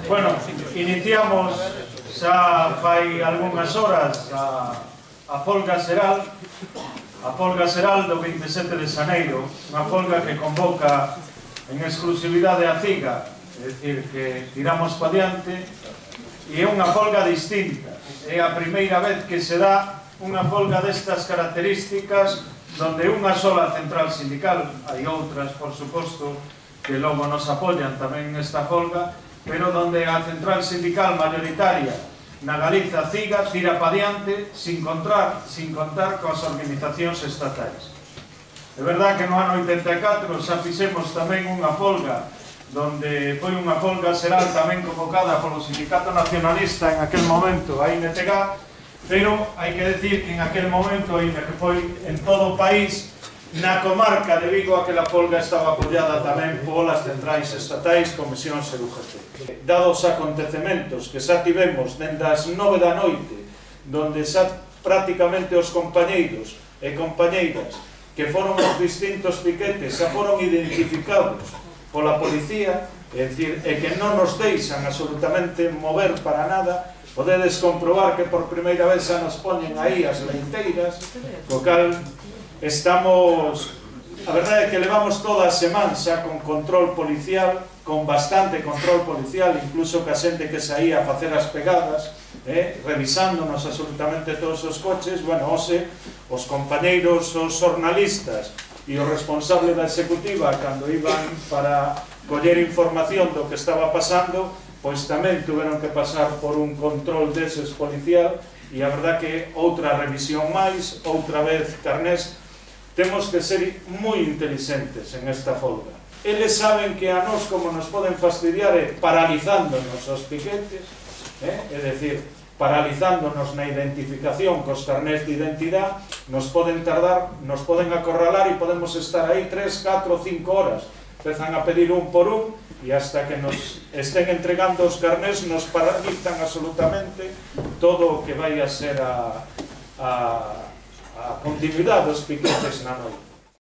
Bueno, iniciamos xa fai algunhas horas a folga xeral do 27 de xaneiro, unha folga que convoca en exclusividade a CIGA, é dicir, que tiramos pa diante, e é unha folga distinta. É a primeira vez que se dá unha folga destas características donde unha sola central sindical, hai outras, por suposto, que logo nos apoian tamén nesta folga, pero donde a central sindical mayoritaria na Galiza, CIGA, tira pa diante sin contar coas organizacións estatais. É verdad que no ano 84 xa fixemos tamén unha folga donde foi unha folga xeral tamén convocada polo Sindicato Nacionalista en aquel momento, a INTG, pero hai que decir que en aquel momento, ainda que foi en todo o país, na comarca de Vigo aquela folga estaba apoiada tamén polas centrais estatais, comisións e UGT. Dados acontecementos que xa tivemos dende as 9 da noite, donde xa prácticamente os compañeiros e compañeiras que foron os distintos piquetes xa foron identificados pola policía, é dicir, e que non nos deixan absolutamente mover para nada, podedes comprobar que por primeira vez xa nos poñen aí as leiteiras, co cal estamos, a verdade é que levamos toda a semana xa con control policial, con bastante control policial, incluso que a xente que saía a facer as pegadas, revisándonos absolutamente todos os coches. Bueno, hoxe, os compañeiros, os xornalistas e o responsable da executiva, cando iban para coller información do que estaba pasando, pois tamén tuveron que pasar por un control deses policial, e a verdade que outra revisión máis, outra vez carnés. Temos que ser moi inteligentes en esta folga. Eles saben que a nós como nos poden fastidiar é paralizándonos os piquetes, é dicir, paralizándonos na identificación cos carnés de identidade, nos poden tardar, nos poden acorralar e podemos estar aí 3, 4, 5 horas. Empezan a pedir un por un e hasta que nos estén entregando os carnés nos paralizan absolutamente todo o que vai a ser a continuidade dos piquetes na noite.